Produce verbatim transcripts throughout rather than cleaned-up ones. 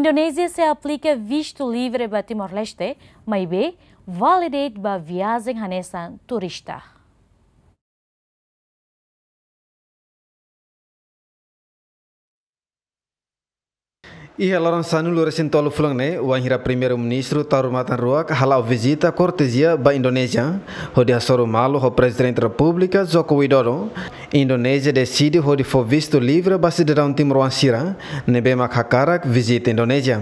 Indonézia sei aplika vistu livre ba Timor-Leste, maibé vale de'it ba viajen hanesan turista. Iha loron sanulu-resin-tolu fulan ne'e, wainhira Primeiru-Ministru Taur Matan Ruak hala'o vizita kortezia ba Indonézia, hodi hasoru malu ho Prezidente Repúblika Joko Widodo, Indonézia deside hodi fó vistu livre ba sidadaun timoroan sira ne'ebé mak hakarak vizita Indonézia.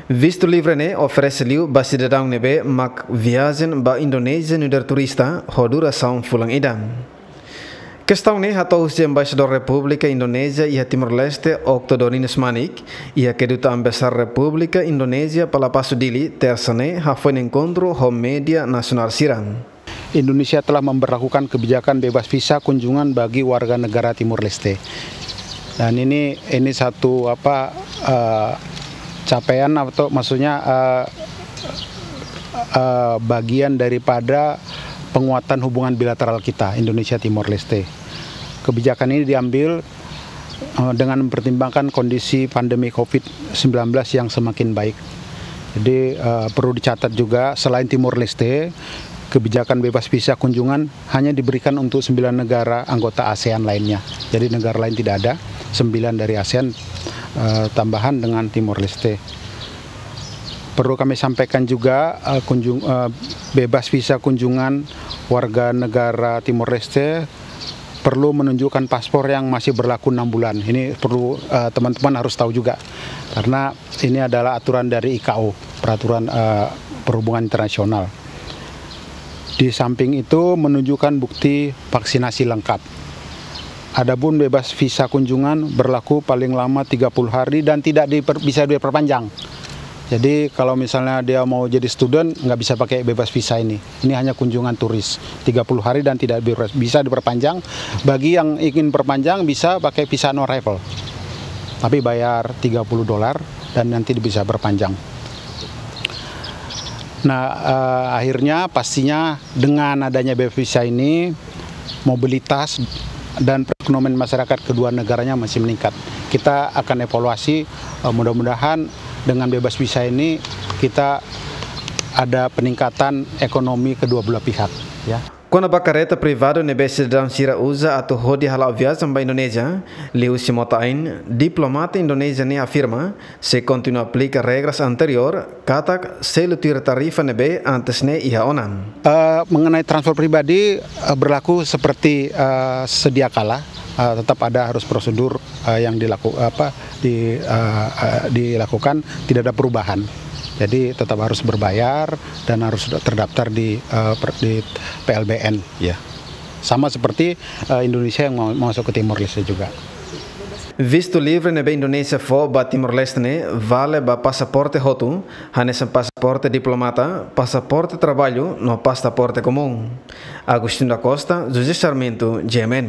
Vistu livre ne'e oferese liu ba sidadaun ne'ebé mak viajen ba Indonézia nu'udar turista ho durasaun fulan ida. Kestaun ne'e hato'o husi Embaixadór Repúblika Indonézia iha Timor-Leste, Octo Dorinus Manik, iha Kedutaan Besar Repúblika Indonézia, Palapasu, Dili, Tersa ne'e, hafoin enkontru ho média nasionál sira. Indonesia telah memberlakukan kebijakan bebas visa kunjungan bagi warga negara Timor Leste. Dan ini, ini satu, apa, eh, capaian atau maksudnya, eh, eh, bagian daripada penguatan hubungan bilateral kita, Indonesia Timor Leste. Kebijakan ini diambil, eh, dengan mempertimbangkan kondisi pandemi covid sembilan belas yang semakin baik. Jadi, eh, perlu dicatat juga, selain Timor Leste, kebijakan bebas visa kunjungan hanya diberikan untuk sembilan negara anggota ASEAN lainnya. Jadi, negara lain tidak ada, sembilan dari ASEAN, eh, tambahan dengan Timor Leste. Perlu kami sampaikan juga, eh, kunjung-, eh, bebas visa kunjungan warga negara Timor Leste perlu menunjukkan paspor yang masih berlaku enam bulan. Ini perlu, eh, teman-teman harus tahu juga, karena ini adalah aturan dari I K O, peraturan, eh, perhubungan internasional. Di samping itu, menunjukkan bukti vaksinasi lengkap. Adapun bebas visa kunjungan berlaku paling lama tiga puluh hari dan tidak diper-, bisa diperpanjang. Jadi, kalau misalnya dia mau jadi student, nggak bisa pakai bebas visa ini. Ini hanya kunjungan turis, tiga puluh hari dan tidak ber-, bisa diperpanjang. Bagi yang ingin perpanjang, bisa pakai visa on arrival. Tapi bayar tiga puluh dolar dan nanti bisa berpanjang. Nah, eh, akhirnya pastinya dengan adanya bebas visa ini, mobilitas dan perekonomian masyarakat kedua negaranya masih meningkat. Kita akan evaluasi, eh, mudah-mudahan dengan bebas visa ini kita ada peningkatan ekonomi kedua belah pihak, ya. Kona-ba kareta privadu ne'ebé sidadaun sira uza atu hodi hala'o viajen ba Indonézia, liuhusi mota-ain, diplomata Indonézia ne'e afirma, sei kontinua aplika regras anteriór, katak selu tuir tarifa ne'ebé antes ne'e iha ona. Eh, mengenai transfer pribadi, eh, berlaku seperti, eh, sedia kala, eh, tetap ada harus prosedur, eh, yang dilaku-, apa, di, eh, eh, dilakukan, tidak ada perubahan. Jadi tetap harus berbayar dan harus terdaftar di, eh, per-, di P L B N, ya. Sama seperti, eh, Indonesia yang mau masuk ke Timor Leste juga. Vistu livre ne'ebé Indonézia fó ba Timor-Leste ne'e vale ba pasaporte hotu, hanesan pasaporte diplomata, pasaporte traballu, no pasaporte komún. Agostinho da Costa, José Sarmento, G M N.